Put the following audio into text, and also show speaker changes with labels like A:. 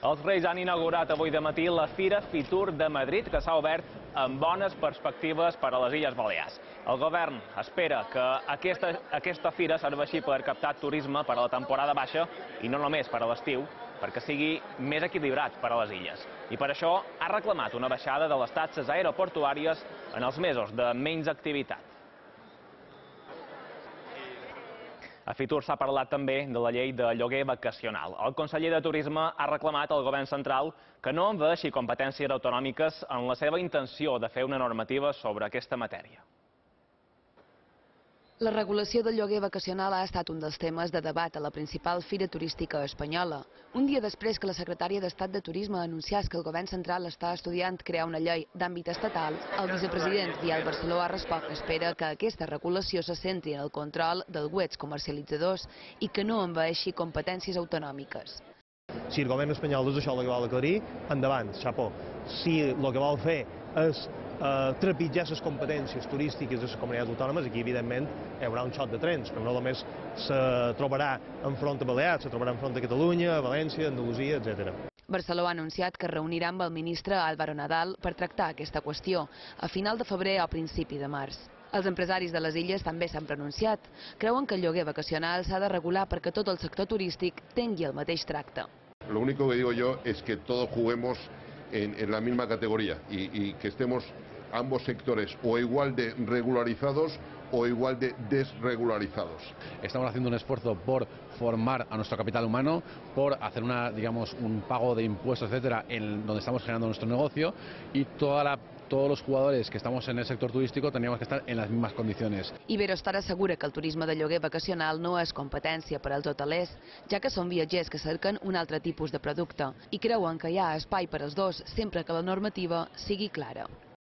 A: Els Reis han inaugurat avui de matí la Fira Fitur de Madrid, que s'ha obert amb bones perspectives per a les Illes Balears. El govern espera que aquesta fira serveixi per captar turisme per a la temporada baixa i no només per a l'estiu, perquè sigui més equilibrat per a les illes. I per això ha reclamat una baixada de les taxes aeroportuàries en els mesos de menys activitat. A Fitur s'ha parlat també de la llei de lloguer vacacional. El conseller de Turisme ha reclamat al govern central que no envaeixi competències autonòmiques en la seva intenció de fer una normativa sobre aquesta matèria.
B: La regulació del lloguer vacacional ha estat un dels temes de debat a la principal fira turística espanyola. Un dia després que la secretària d'Estat de Turisme anunciés que el govern central està estudiant crear una llei d'àmbit estatal, el vicepresident Biel Barceló ha respost que espera que aquesta regulació se centri en el control dels webs comercialitzadors i que no envaeixi competències autonòmiques.
C: Si el govern espanyol és això el que vol aclarir, endavant, xapó. Si el que vol fer és trepitjar les competències turístiques de les comunitats autònomes, aquí evidentment hi haurà un xoc de trens, que no només se trobarà enfront a Balears, se trobarà enfront a Catalunya, a València, Andalusia, etc.
B: Barceló ha anunciat que es reunirà amb el ministre Álvaro Nadal per tractar aquesta qüestió a final de febrer o principi de març. Els empresaris de les illes també s'han pronunciat. Creuen que el lloguer vacacional s'ha de regular perquè tot el sector turístic tingui el mateix tracte.
D: Lo único que digo yo es que todos juguemos en la misma categoría y que estemos ambos sectores o igual de regularizados o igual de desregularizados.
E: Estamos haciendo un esfuerzo por formar a nuestro capital humano, por hacer un pago de impuestos, etcétera, en donde estamos generando nuestro negocio, y todos los jugadores que estamos en el sector turístico teníamos que estar en las mismas condiciones.
B: Iberostar assegura que el turisme de lloguer vacacional no és competència per als hotelers, ja que són viatgers que cerquen un altre tipus de producte i creuen que hi ha espai per als dos sempre que la normativa sigui clara.